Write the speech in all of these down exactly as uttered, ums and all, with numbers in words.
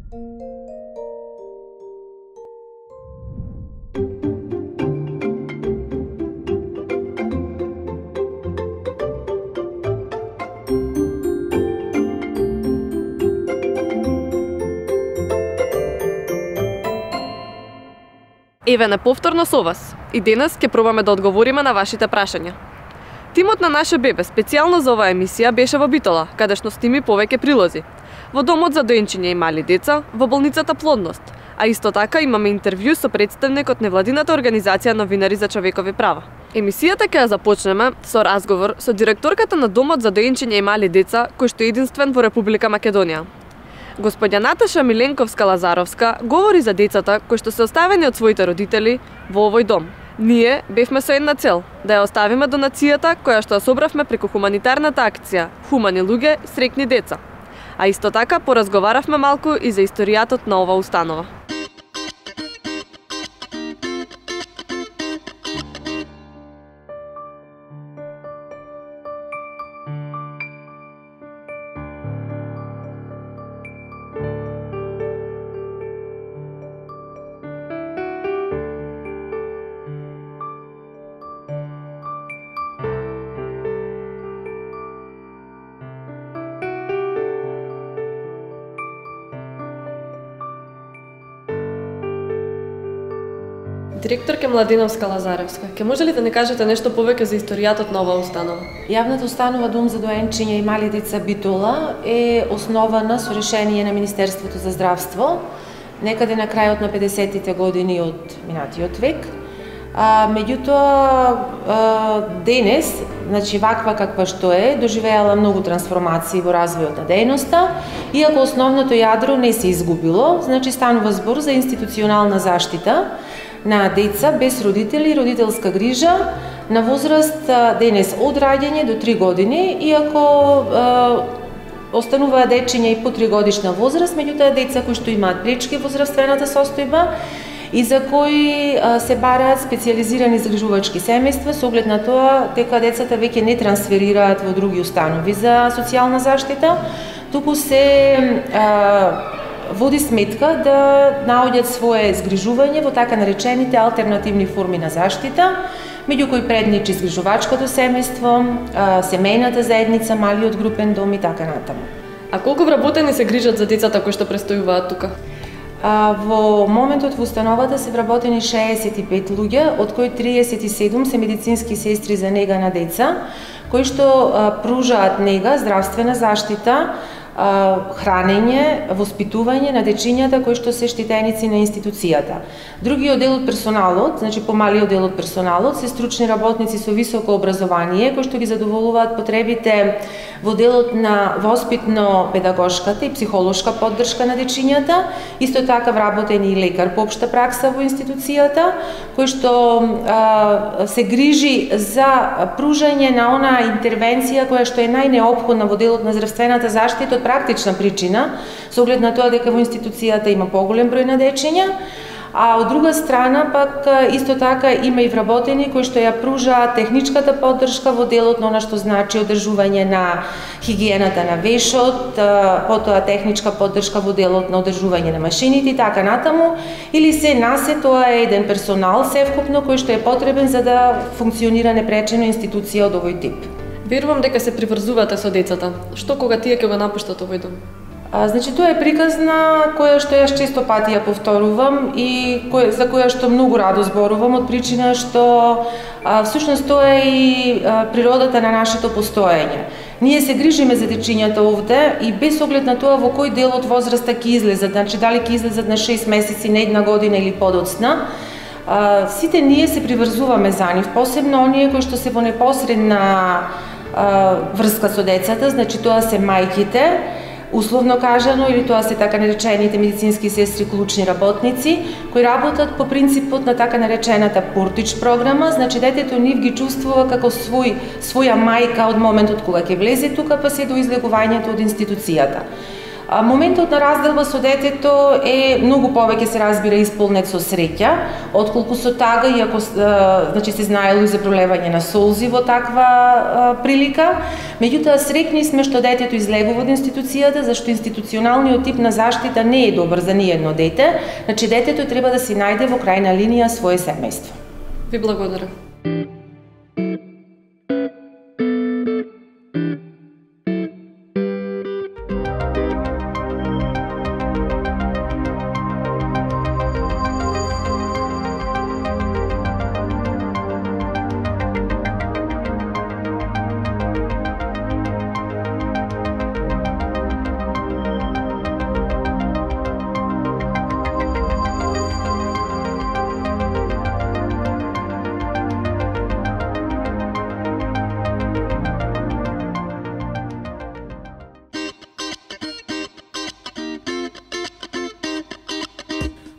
Еве на повторно со вас. И денес ќе пробаме да одговориме на вашите прашања. Тимот на Наше бебе специјално за оваа емисија беше во Битола, кадешно сними повеќе прилози. Во домот за доенчиња и мали деца, во болницата Плодност, а исто така имаме интервју со представник од невладината организација Новинари за човекови права. Емисијата ќе ја започнеме со разговор со директорката на домот за доенчиња и мали деца, кој што е единствен во Република Македонија. Господја Наташа Миленковска-Лазаровска говори за децата кои што се оставени од своите родители во овој дом. Ние бевме со една цел, да ја оставиме донацијата која што ја собравме преку хуманитарната акција Хумани луѓе, среќни деца. А исто така поразговаравме малку и за историјатот на оваа установа. Директорка Младиновска-Лазаровска, ќе може ли да ни кажете нешто повеќе за историјатот на оваа установа? Јавната установа Дом за доенчиња и мали деца Битола е основана со решение на Министерството за здравство некаде на крајот на педесетите години од минатиот век. А, меѓутоа, денес, значи ваква каква што е, доживеала многу трансформации во развојот на дејноста, иако основното јадро не се изгубило, значи станува збор за институционална заштита на деца без родители и родителска грижа на возраст денес од раѓање до три години, иако е, остануваат дечиња и по три годишна возраст, меѓутоа деца кои што имаат пречки во здравствената состојба и за кои е, се бараат специјализирани згрижувачки семејства со оглед на тоа дека децата веќе не трансферираат во други установи за социјална заштита, туку се е, води сметка да наоѓаат свое згрижување во така наречените алтернативни форми на заштита, меѓу кои предничи згрижувачкото семејство, семејната заедница, малиот групен дом и така натаму. А колку вработени се грижат за децата кои што престојуваат тука? А, во моментот во установата се вработени шеесет и пет луѓе, од кои триесет и седум се медицински сестри за нега на деца, кои што а, пружаат нега, здравствена заштита, хранење, воспитување на дечињата кои што се штитеници на институцијата. Другиот дел од персоналот, значи помалиот дел од персоналот, се стручни работници со високо образование кои што ги задоволуваат потребите во делот на воспитно-педагошката и психолошка поддршка на дечињата. Исто така вработен и лекар по општа пракса во институцијата, кој што а, се грижи за пружање на онаа интервенција која што е најнеопходна во делот на здравствената заштита од практична причина, со оглед на тоа дека во институцијата има поголем број на дечиња, а од друга страна пак исто така има и вработени кои што ја пружаат техничката поддршка во делот на она што значи одржување на хигиената на вешот, потоа техничка поддршка во делот на одржување на машините и така натаму, или се насе тоа е еден персонал севкупно кој што е потребен за да функционира непречено институција од овој тип. Верувам дека се приврзувате со децата. Што кога тие ќе го напуштат овој дом? А, значи тоа е приказна која што јас често пати ја повторувам и која, за која што многу радо зборувам од причина што а, всушност тоа е и а, природата на нашето постоење. Ние се грижиме за дечињата овде и без оглед на тоа во кој дел од возраста ќе излезат, значи дали ќе излезат на шест месеци, на една година или подоцна, а, сите ние се приврзуваме за нив, посебно оние кои што се во непосредна врска со децата, значи тоа се мајките, условно кажано, или тоа се така наречените медицински сестри, клучни работници, кои работат по принципот на така наречената портич програма, значи детето нив ги чувствува како свој, своја мајка од моментот кога ќе влезе тука, па се до излегувањето од институцијата. А, моментот на разделба со детето е многу повеќе се разбира исполнет со среќа, отколку со тага, иако а, значи се знаело и за пролевање на солзи во таква а, прилика. Меѓутоа среќни сме што детето излегува од институцијата, зашто институционалниот тип на заштита не е добар за ниедно дете, значи детето треба да си најде во крајна линија свое семејство. Ви благодарам.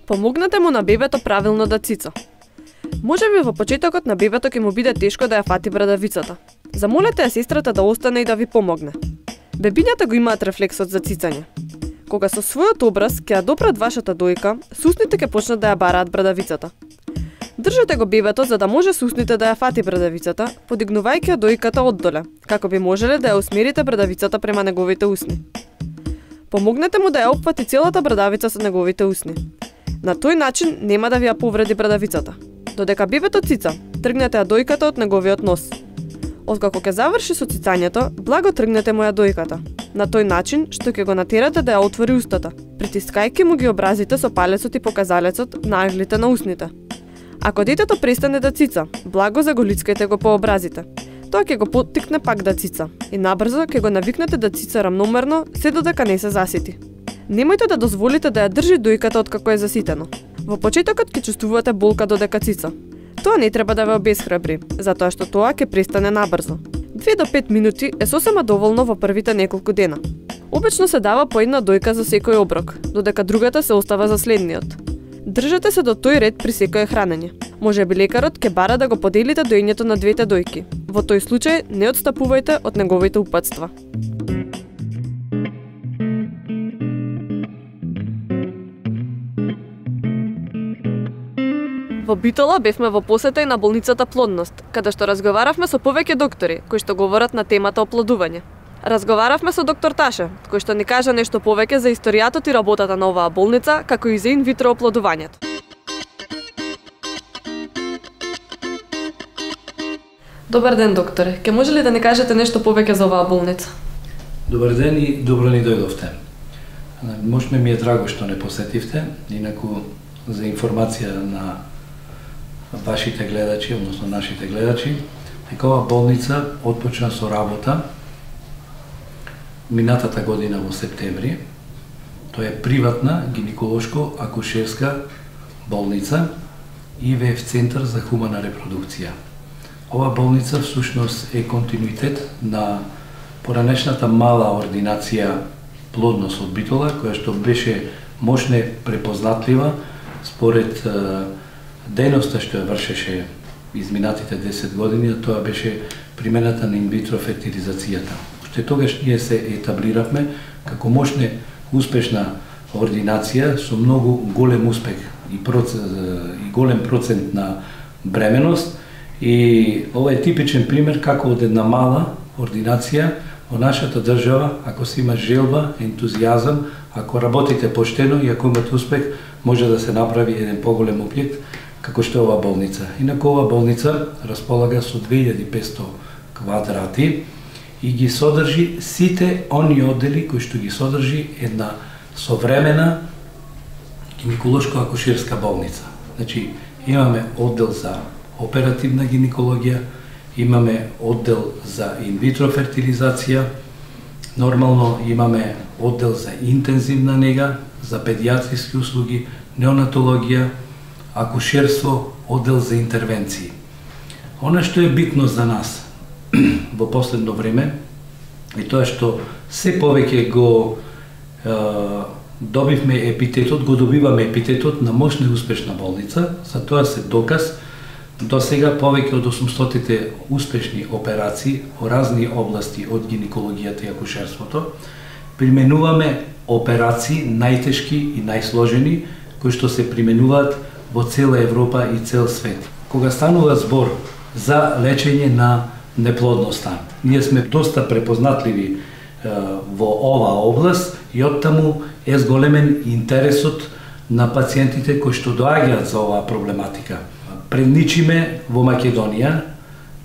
Помогнете му на бебето правилно да цица. Можеби во почетокот на бебето ќе му биде тешко да ја фати брадавицата. Замолете ја сестрата да остане и да ви помогне. Бебињата го имаат рефлексот за цицање. Кога со својот образ ќе ја допрат вашата дојка, сусните ќе почнат да ја бараат брадавицата. Држете го бебето за да може сусните да ја фати брадавицата, подигнувајќи ја дојката оддоле, како би можеле да ја усмерите брадавицата према неговите усни. Помогнете му да ја опфати целата брадавица со неговите усни. На тој начин нема да ви ја повреди брадавицата. Додека бебето цица, тргнете ја дојката од неговиот нос. Откако ќе заврши со цицањето, благо тргнете му ја дојката. На тој начин што ќе го натерате да ја отвори устата, притискајќи му ги образите со палецот и показалецот на аглите на усните. Ако детето престане да цица, благо заголицкајте го по образите. Тоа ќе го поттикне пак да цица и набрзо ќе го навикнете да цица рамномерно се додека не се засити. Немојте да дозволите да ја држи дојката откако е заситено. Во почетокот ќе чувствувате болка додека цица. Тоа не треба да ве обесхрабри, затоа што тоа ќе престане набрзо. две до пет минути е сосема доволно во првите неколку дена. Обично се дава по една дојка за секој оброк, додека другата се остава за следниот. Држете се до тој ред при секое хранење. Можеби лекарот ќе бара да го поделите доењето на двете дојки. Во тој случај не отстапувајте од неговите упатства. Во Битола бевме во посета и на болницата Плодност, каде што разговаравме со повеќе доктори кои што говорат на темата оплодување. Разговаравме со доктор Таше, кој што ни кажа нешто повеќе за историјатот и работата на оваа болница, како и за инвитро оплодувањето. Добар ден, докторе. Ке може ли да ни кажете нешто повеќе за оваа болница? Добар ден и добро ни дојдовте. Можеме ми е драго што не посетивте, инаку за информација на вашите гледачи, односно нашите гледачи, дека оваа болница отпочна со работа минатата година во септември. Тоа е приватна гинеколошко-акушерска болница и ИВФ центар за хумана репродукција. Оваа болница всушност е континуитет на поранешната мала ординација Плодност од Битола, која што беше мощно препознатлива според дејноста што ја вршеше изминатите десет години, тоа беше примената на инвитро фертилизацијата. Уште тогаш ние се етаблиравме како мощна успешна ординација со многу голем успех и, процент, и голем процент на бременост, и ова е типичен пример како од една мала ординација во нашата држава, ако се има желба, ентузијазам, ако работите поштено и ако имате успех, може да се направи еден поголем објект како што е оваа болница. Инаку оваа болница располага со две илјади и петсто квадрати и ги содржи сите они оддели кои што ги содржи една современа гинеколошко-акушерска болница. Значи, имаме оддел за оперативна гинекологија, имаме оддел за инвитро фертилизација, нормално имаме оддел за интензивна нега, за педијатриски услуги, неонатологија, акушерство, оддел за интервенции. Она што е битно за нас во последно време е тоа што се повеќе го е, добивме епитетот, го добиваме епитетот на мощна и успешна болница, за тоа се доказ. До сега повеќе од осумстотите успешни операции во разни области од гинекологијата и акушерството применуваме операции, најтешки и најсложени, кои што се применуваат во цела Европа и цел свет. Кога станува збор за лечење на неплодноста, ние сме доста препознатливи е, во оваа област и оттаму е зголемен интересот на пациентите кои што доаѓаат за оваа проблематика. Предничиме во Македонија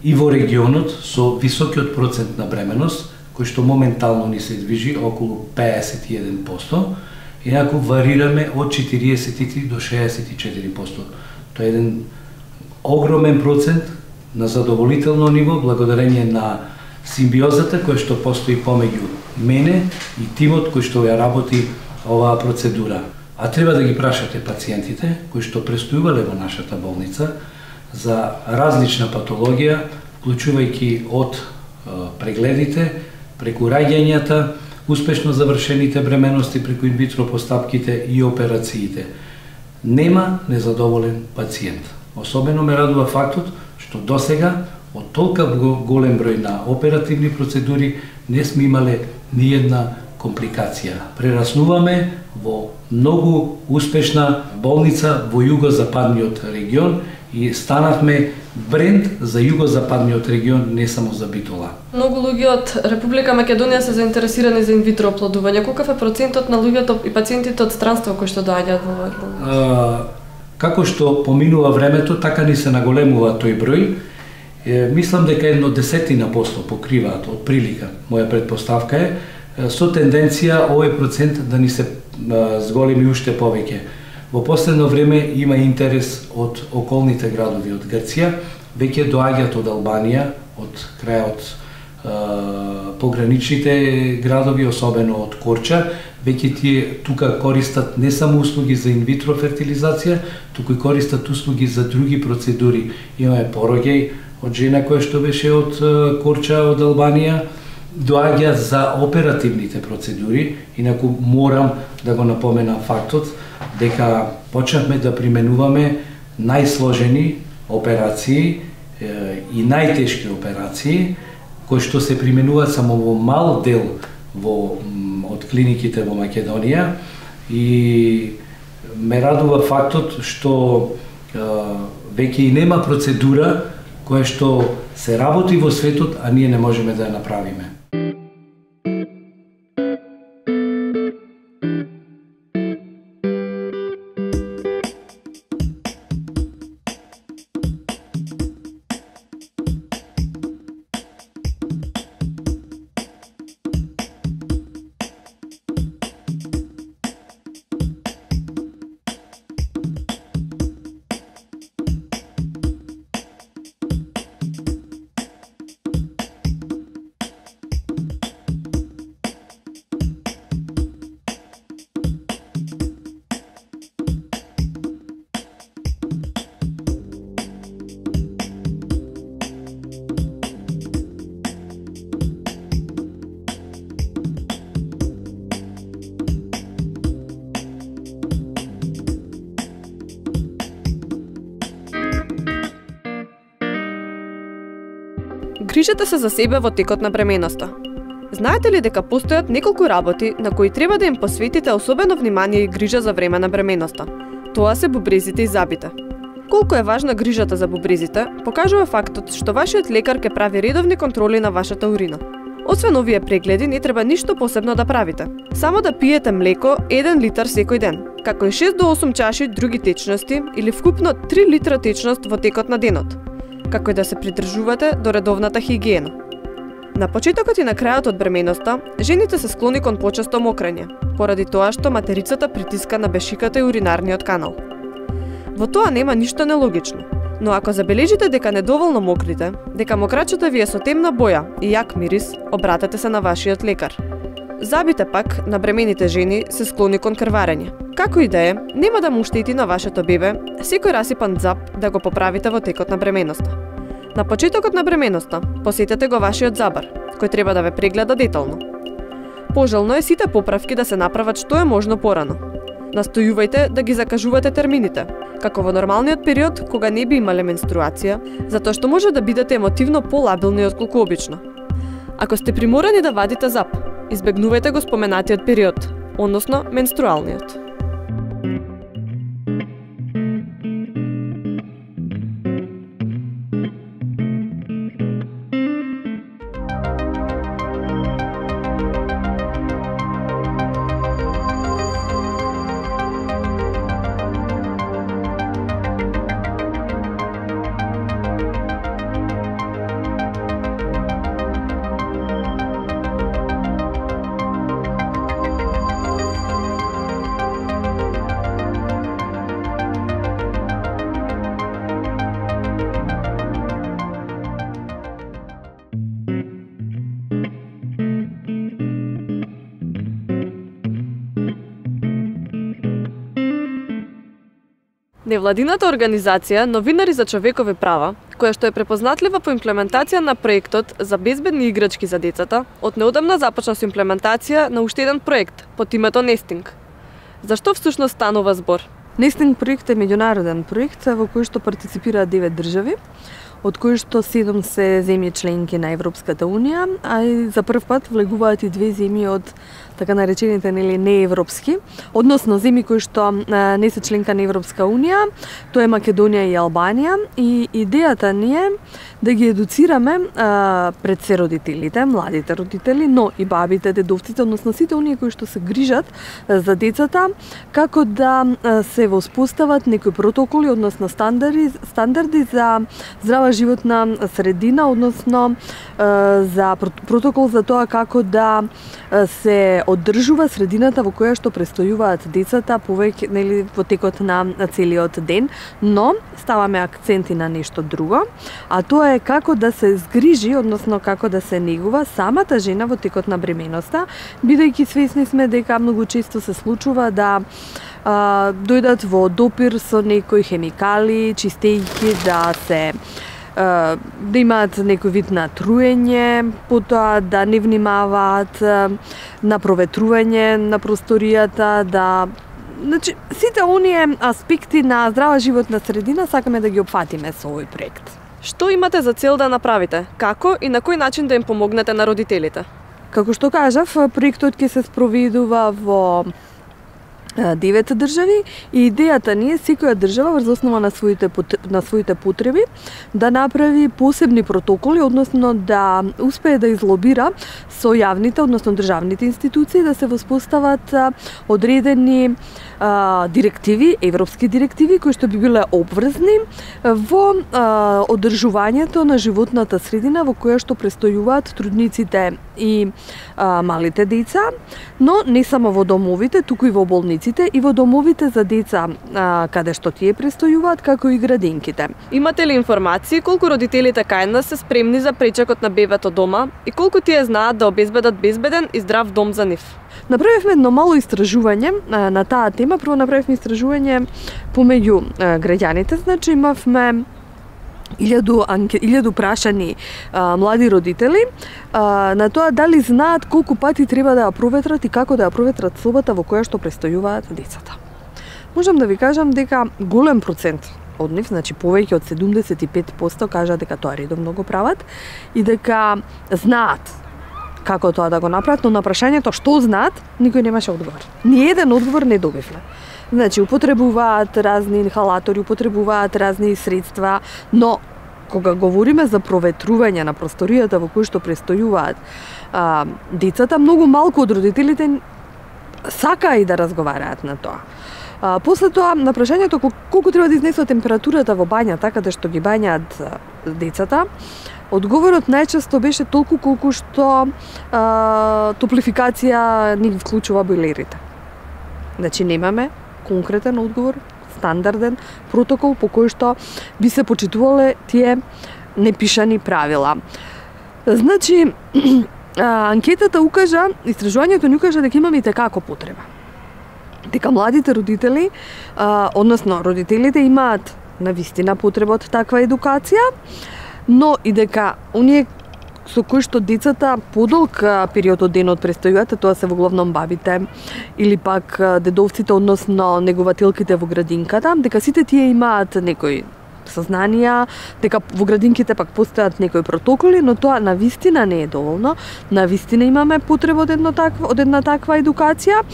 и во регионот со високиот процент на бременост, кој што моментално ни се движи околу педесет и еден проценти, инаку варираме од четириесет и три до шеесет и четири проценти. Тоа е еден огромен процент на задоволително ниво, благодарение на симбиозата која што постои помеѓу мене и тимот кој што ја работи оваа процедура. А треба да ги прашате пациентите кои што престојувале во нашата болница за различна патологија, вклучувајќи од прегледите, преку раѓањата, успешно завршените бременности преку инвитро постапките и операциите. Нема незадоволен пациент. Особено ме радува фактот што досега од толка голем број на оперативни процедури не сме имале ни една компликација. Прераснуваме во многу успешна болница во југозападниот регион и станавме бренд за југозападниот регион, не само за Битола. Многу луѓе од Република Македонија се заинтересирани за инвитро оплодување. Колкав е процентот на луѓето и пациентите од странство кои што доаѓаат во оваа болница? Како што поминува времето, така ни се наголемува тој број. Е, мислам дека едно десетина посто покриваат од прилика. Моја предпоставка е со тенденција овој процент да ни се зголеми уште повеќе. Во последно време има интерес од околните градови од Грција, веќе доаѓаат од Албанија, од крајот е, пограничните градови, особено од Корча, веќе тие тука користат не само услуги за инвитро фертилизација, туку и користат услуги за други процедури. Имаме пороѓај од жена која што беше од Корча, од Албанија, доаѓаат за оперативните процедури, инаку морам да го напоменам фактот дека почнавме да применуваме најсложени операции е, и најтешки операции, кои што се применуваат само во мал дел во, од клиниките во Македонија, и ме радува фактот што е, веќе и нема процедура која што се работи во светот, а ние не можеме да ја направиме. Грижете се за себе во текот на бременоста. Знаете ли дека постојат неколку работи на кои треба да им посветите особено внимание и грижа за време на бременоста? Тоа се бубрезите и зъбите. Колку е важна грижата за бубрезите, покажува фактот што вашиот лекар ќе прави редовни контроли на вашата урина. Освен овие прегледи, не треба ништо посебно да правите. Само да пиете млеко еден литар секој ден, како и шест до осум чаши други течности или вкупно три литра течност во текот на денот, како и да се придржувате до редовната хигиена. На почетокот и на крајот од бременоста, жените се склони кон почесто мокрење, поради тоа што материцата притиска на бешиката и уринарниот канал. Во тоа нема ништо нелогично, но ако забележите дека недоволно мокрите, дека мокрачето ви е со темна боја и јак мирис, обратете се на вашиот лекар. Зъбите пак на бремените жени се склони кон крварење. Како и да е, нема да му штети на вашето бебе секој расипан зъб да го поправите во текот на бременоста. На почетокот на бременоста посетете го вашиот зъбар, кој треба да ве прегледа детално. Пожелно е сите поправки да се направат што е можно порано. Настојувајте да ги закажувате термините, како во нормалниот период кога не би имале менструација, затоа што може да бидете емотивно полабилни отколку обично. Ако сте приморани да вадите зъб, избегнувајте го споменатиот период, односно менструалниот. Невладината организација Новинари за човекови права, која што е препознатлива по имплементација на проектот за безбедни играчки за децата, од неодамна започна со имплементација на уште еден проект под името Нестинг. Зашто всушност станува збор? Нестинг проект е меѓународен проект во кој што партиципираат девет држави, од кои што седум се земји членки на Европската унија, а и за прв пат влегуваат и две земји од така наречените нели неевропски, односно земји кои што а, не се членка на Европска унија, тоа е Македонија и Албанија, и идејата ни е да ги едуцираме а, пред се родителите, младите родители, но и бабите, дедовците, односно сите оние кои што се грижат а, за децата, како да а, се воспостават некои протоколи, односно стандарди, стандарди за здрава животна средина, односно а, за протокол за тоа како да а, се оддржува средината во која што престојуваат децата повеќе нели во текот на целиот ден, но ставаме акценти на нешто друго, а тоа е како да се згрижи, односно како да се негува самата жена во текот на бременоста, бидејќи свесни сме дека многу често се случува да а, дојдат во допир со некои хемикали, чистејќи да се да имаат некој вид на труење, потоа да не внимаваат на проветрување на просторијата, да значи сите оние аспекти на здрава животна средина сакаме да ги опфатиме со овој проект. Што имате за цел да направите? Како и на кој начин да им помогнете на родителите? Како што кажав, проектот ќе се спроведува во девет држави и идејата ни е секоја држава врз основа на своите на своите потреби да направи посебни протоколи, односно да успее да излобира со јавните, односно државните институции да се воспостават одредени а, директиви, европски директиви кои што би биле обврзни во а, одржувањето на животната средина во која што престојуваат трудниците и а, малите деца, но не само во домовите, туку и во болниците и во домовите за деца а, каде што тие престојуваат, како и градинките. Имате ли информации колку родителите кај нас се спремни за пречекот на бебето дома и колку тие знаат да обезбедат безбеден и здрав дом за нив? Направивме едно мало истражување а, на таа тема. Прво направивме истражување помеѓу а, граѓаните, значи имавме илјаду илјаду прашани а, млади родители а, на тоа дали знаат колку пати треба да ја проветрат и како да ја проветрат собата во која што престојуваат децата. Можам да ви кажам дека голем процент од нив, значи повеќе од седумдесет и пет проценти кажа дека тоа редовно го прават и дека знаат како тоа да го направат, но на прашањето што знаат, никој немаше одговор. Ни еден одговор не добивме. Значи, употребуваат разни инхалатори, употребуваат разни средства, но кога говориме за проветрување на просторијата во која што престојуваат а, децата, многу малку од родителите сака и да разговараат на тоа. А, после тоа, на прашањето колку треба да изнесува температурата во бањата, каде што ги бањаат децата, одговорот најчесто беше толку колку што а, топлификација ни вклучува бойлерите. Значи, немаме конкретен одговор, стандарден протокол по кој што би се почитувале тие непишани правила. Значи, анкетата укажа, истражувањето ни укажа дека имаме и текако потреба. Дека младите родители, а, односно родителите имаат навистина потреба од таква едукација, но и дека оние со кои што децата подолг период од денот престојуваат, тоа се во главном бабите или пак дедовците, односно негователките во градинката, дека сите тие имаат некои сознанија, дека во градинките пак постојат некои протоколи, но тоа навистина не е доволно. Навистина имаме потреба од една таква, од една таква едукација.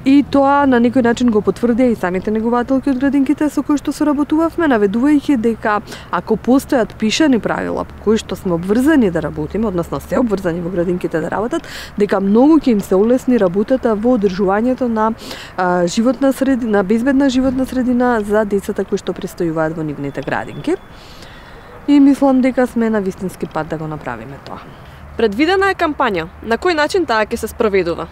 И тоа на некој начин го потврдија и самите негователки од градинките со кои што соработувавме, наведувајќи дека ако постојат пишани правила по кои што сме обврзани да работиме, односно се обврзани во градинките да работат, дека многу ќе им се улесни работата во одржувањето на а, животна средина, безбедна животна средина за децата кои што престојуваат во нивните градинки. И мислам дека сме на вистински пат да го направиме тоа. Предвидена е кампања. На кој начин таа ќе се спроведува?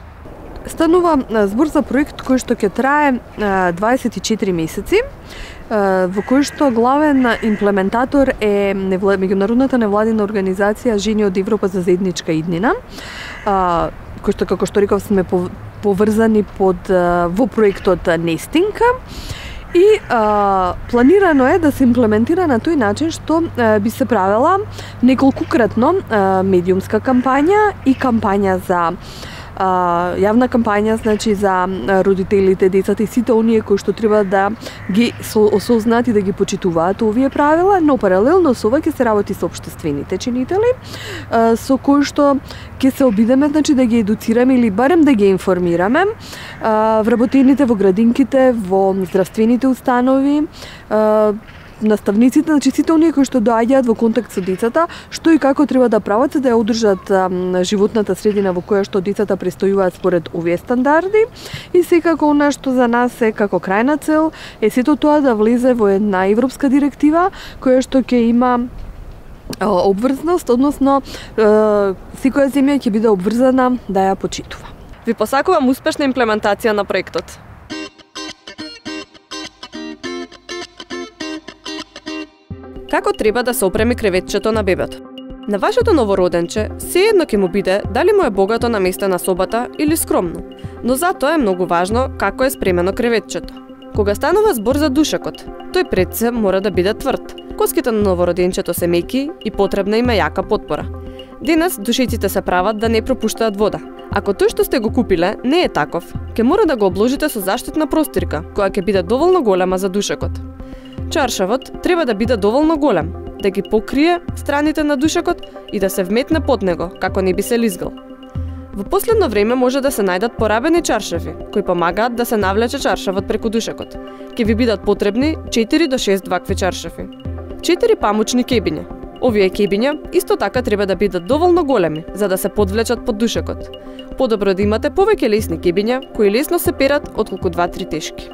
Станува збор за проект кој што ќе трае дваесет и четири месеци, во кој што главен имплементатор е меѓународната невладина организација Жени од Европа за заедничка иднина, кој што, како што реков, сме поврзани под во проектот Нестинг. И а, планирано е да се имплементира на тој начин што а, би се правела неколкукратно а, медиумска кампања и кампања за а, јавна кампања, значи за родителите, децата и сите оние кои што треба да ги осознаат и да ги почитуваат овие правила, но паралелно со ова ќе се работи со општествените чинители, а, со кои што ќе се обидеме, значи, да ги едуцираме или барем да ги информираме а, вработените во градинките, во здравствените установи, а, наставниците, значи сите оние кои што доаѓаат во контакт со децата, што и како треба да прават за да ја одржат а, животната средина во која што децата престојуваат според овие стандарди. И секако она што за нас е како крајна цел е сето тоа да влезе во една европска директива која што ќе има обврзност, односно секоја земја ќе биде обврзана да ја почитува. Ви посакувам успешна имплементација на проектот. Како треба да се опреми креветчето на бебето? На вашето новороденче сеедно ќе му биде дали му е богато наместена собата или скромно, но затоа е многу важно како е спремено креветчето. Кога станува збор за душекот, тој пред се мора да биде тврд. Коските на новороденчето се меки и потребна им е јака потпора. Денес душеците се прават да не пропуштаат вода. Ако тој што сте го купиле не е таков, ќе мора да го обложите со заштитна простирка, која ќе биде доволно голема за душекот. Чаршавот треба да биде доволно голем, да ги покрие страните на душекот и да се вметне под него, како не би се лизгал. Во последно време може да се најдат порабени чаршави, кои помагаат да се навлече чаршавот преку душекот. Ке ви бидат потребни четири до шест вакви чаршави. четири памучни кебиња. Овие кебиња исто така треба да бидат доволно големи за да се подвлечат под душекот. Подобро да имате повеќе лесни кебиња кои лесно се перат отколку два-три тешки.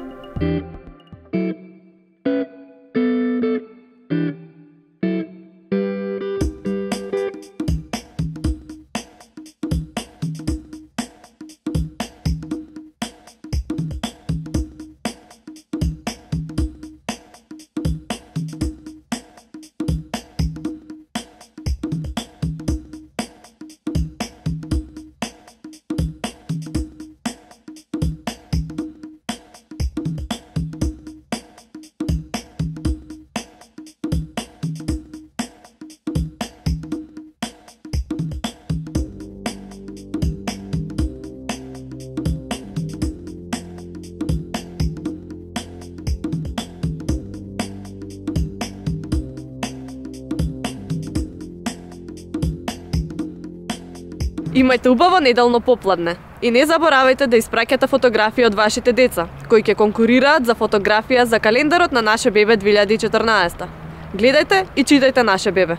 Имајте убаво неделно попладне и не заборавајте да испраќате фотографии од вашите деца, кои ќе конкурираат за фотографија за календарот на Наше бебе две илјади и четрнаесета. Гледајте и читајте Наше бебе.